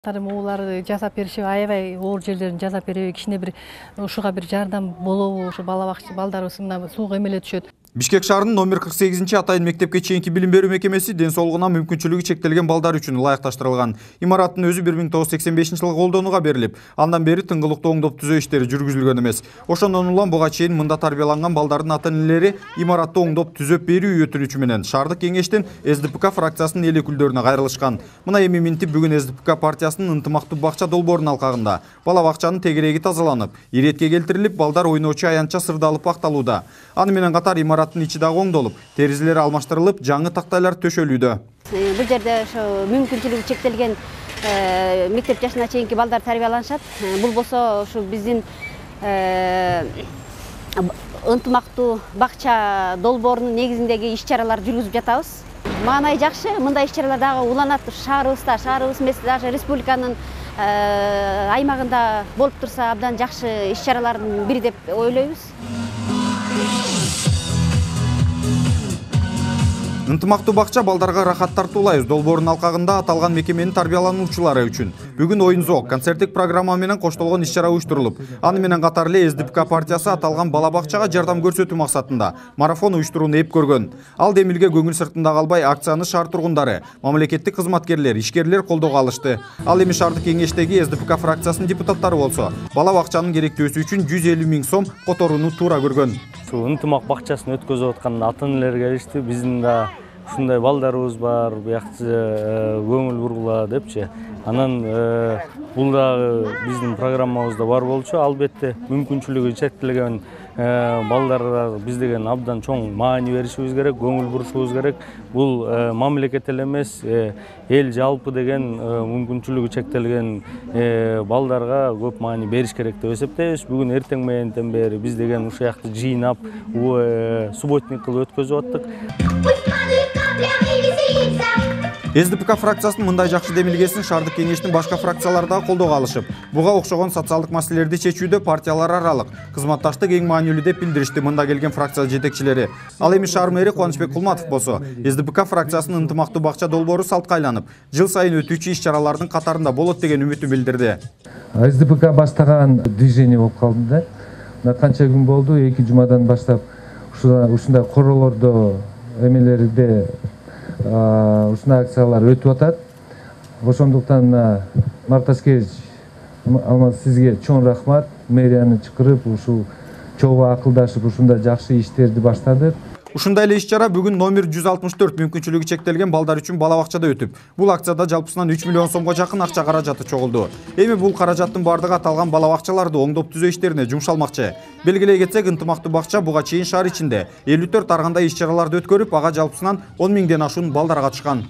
Уулар жасап беришип, аябай оор жерлерин жасап береби, кичине бир ушуга бир жардам болобу, ушу бала бакча балдарыбыз мына сууга эмеле түшөт. Бишкек шаарынын номер 48 атайын мектепке чейинки билим берүү мекемеси ден соолугуна мүмкүнчүлүгү чектелген балдар үчүн ылайыкташтырылган. Имараттын өзү 1985-жылы колдонууга берилип, андан бери тыңгылыктуу оңдоп түзөө иштери жүргүзүлгөн эмес. Ошондон улам буга чейин мында тарбияланган балдардын ата-энелери имаратты оңдоп түзөп берүү өтүнүчү менен шаардык кеңештин СДПК фракциясынын эл өкүлдөрүнө кайрылышкан. Мына эми минтип бүгүн СДПК партиясынын ынтымактуу бакча долбоорунун алкагында бала бакчанын тегереги тазаланып, иретке келтирилип, балдар ойноочу аянтча сырдалып бакталууда. Аны менен катар имараттын ичи дагы оңдолуп, терезелери алмаштырылып, жаңы тактайлар төшөлүүдө. Бул жерде ошо мүмкүнчүлүгү чектелген мектеп жашына чейинки балдар тарбияланышат. Бул болсо ушу биздин ынтымактуу бакча долбоорунун негизиндеги иш-чараларды жүргүзүп жатабыз. Маанай жакшы, мындай иш-чаралар дагы уланат шаарыбыз эмес, даже республиканын аймагында болуп турса абдан жакшы иш-чаралардын бири деп ойлойбуз. Ынтымактуу бакча балдарга рахат тартуулайбыз долбоорунун алкагында аталган мекеменин тарбиялануучулары үчүн бүгүн оюн зоок, концерттик программа менен коштолгон иш-чара уюштурулуп, аны менен катар эле СДПК партиясы аталган бала бакчага жардам көрсөтүү максатында марафон уюштурууну эп көргөн. Ал демилге көңүл сыртында калбай акцияны шаар тургундары, мамлекеттик кызматкерлер, ишкерлер колдоого алышты. Ал эми шаардык кеңештеги СДПК фракциясынын депутаттары болсо, бала бакчанын керектөөсү үчүн 150 000 сом которууну туура көргөн. Ынтымак бакчасын өткөзүп аткан ата-энелер келишти. Биздин да ушундай балдарыбыз бар, буякчы көңүл бургула депчи. Анан бул дагы биздин программабызда бар болчу. Албетте мүмкүнчүлүгү чектелген балдарга биз деген абдан чоң маани беришибиз керек, көңүл бурушубуз керек. Бул мамлекет эле эмес, эл жалпы деген мүмкүнчүлүгү чектелген балдарга көп маани бериш керек деп эсептейбиз. Бүгүн эртең мененден бери биз деген ушул жакты жыйнап, субботник кылып өткөзүп аттык. СДПК фракциясынын мындай жакшы демилгесин шаардык кеңештин башка фракциялары дагы колдоого алышып, буга окшогон социалдык маселелерди чечүүдө партиялар аралык кызматташтык эң маанилүү деп билдиришти мында келген фракция жетекчилери. Ал эми шаар мэри Кубанычбек Кулматов болсо, СДПК фракциясынын ынтымактуу бакча долбоору салтка айланып, жыл сайын өтүүчү иш-чаралардын катарында болот деген үмүтүн билдирди. СДПК баштаган движение болуп калды да. Канча күн болду, 2 жумадан баштап ушундай королордо эмелерде ушундай акциялар өтүп атат. Ошондуктан Марташкевич сизге чоң рахмат. Мэрияны чакырып, ушул чогуу акылдашып ушундай жакшы иштерди баштадык. Ушундай эле иш-чара бүгүн номер 164 мүмкүнчүлүгү чектелген балдар үчүн бала бакчада өтүп, бул акцияда жалпысынан 3 миллион сомго жакын акча каражаты чогулду. Эми бул каражаттын бардыгы аталган бала бакчаларды оңдоп түзөө иштерине жумшалмакчы. Белгилей кетсек, ынтымактуу бакча буга чейин шаар ичинде 54 ар кандай иш-чараларды өткөрүп, ага жалпысынан 10 000ден ашуун балдар катышкан.